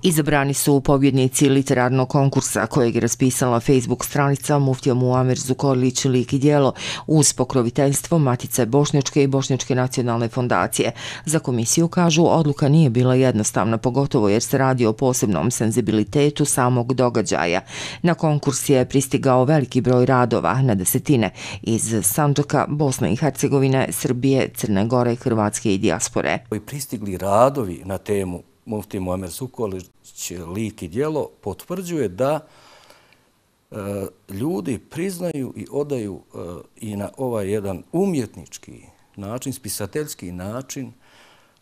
Izabrani su pobjednici literarnog konkursa kojeg je raspisala Facebook stranica Muftija Muamer Zukorlić Lik i djelo uz pokroviteljstvo Matice Bošnjačke i Bošnjačke nacionalne fondacije. Za komisiju kažu odluka nije bila jednostavna, pogotovo jer se radi o posebnom senzibilitetu samog događaja. Na konkurs je pristigao veliki broj radova, na desetine, iz Sandžaka, Bosne i Hercegovine, Srbije, Crne Gore, Hrvatske i dijaspore. Pristigli radovi na temu Muftija Muamer Zukorlić Lik i djelo potvrđuje da ljudi priznaju i odaju i na ovaj jedan umjetnički način, spisateljski način,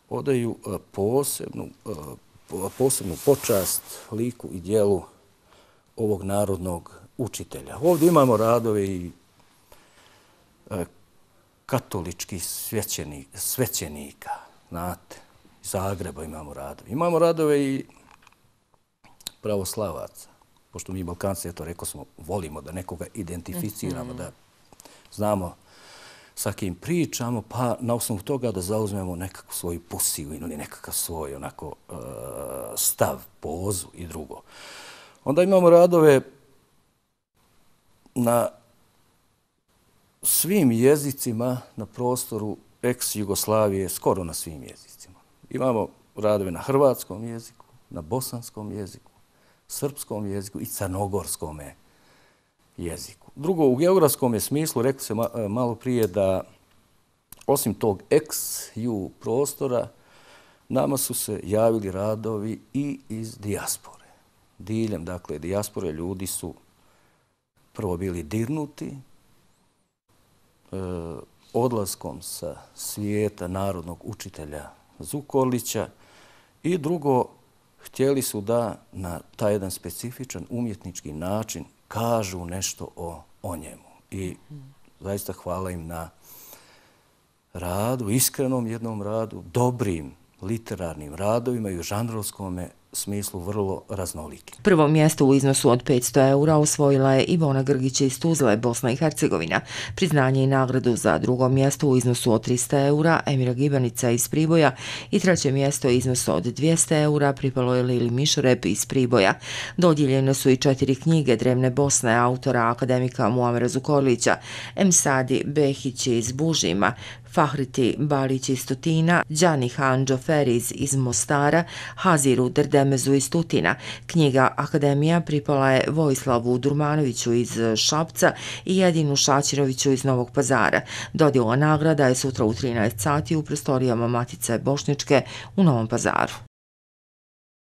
odaju posebnu počast liku i djelu ovog narodnog učitelja. Ovdje imamo radove i katoličkih svećenika, znate, iz Zagreba imamo radove. Imamo radove i pravoslavaca, pošto mi Balkanci, eto rekao smo, volimo da nekoga identificiramo, da znamo sa kim pričamo, pa na osnovu toga da zauzmemo nekakvu svoju poziciju ili nekakav svoj onako stav, pozu i drugo. Onda imamo radove na svim jezicima na prostoru ex-Jugoslavije, skoro na svim jezicima. Imamo radove na hrvatskom jeziku, na bosanskom jeziku, srpskom jeziku i crnogorskom jeziku. Drugo, u geografskom smislu, rekli se malo prije da osim tog ex-ju prostora, nama su se javili radovi i iz dijaspore. Diljem, dakle, dijaspore ljudi su prvo bili dirnuti odlaskom sa svijeta narodnog učitelja Zukorlića i drugo, htjeli su da na taj jedan specifičan umjetnički način kažu nešto o njemu. I zaista hvala im na radu, iskrenom jednom radu, dobrim literarnim radovima i u žanrovskom smislu vrlo raznoliki. Prvo mjesto u iznosu od 500 eura osvojila je Ivona Grgić iz Tuzle, Bosna i Hercegovina. Priznanje i nagradu za drugo mjesto u iznosu od 300 eura Emira Gibanica iz Priboja i treće mjesto u iznosu od 200 eura pripalo je Lili Mišorep iz Priboja. Dodijeljene su i 4 knjige Drevne Bosne autora akademika Muamera Zukorlića, Emsadi Behić iz Bužima, Fahriti Balić iz Tutina, Đani Handžo Feriz iz Mostara, Haziru Derdemezu iz Tutina. Knjiga Akademija pripala je Vojislavu Durmanoviću iz Šapca i Jedinu Šačiroviću iz Novog Pazara. Dodjela nagrada je sutra u 13 sati u prostorijama Matice Bošnjačke u Novom Pazaru.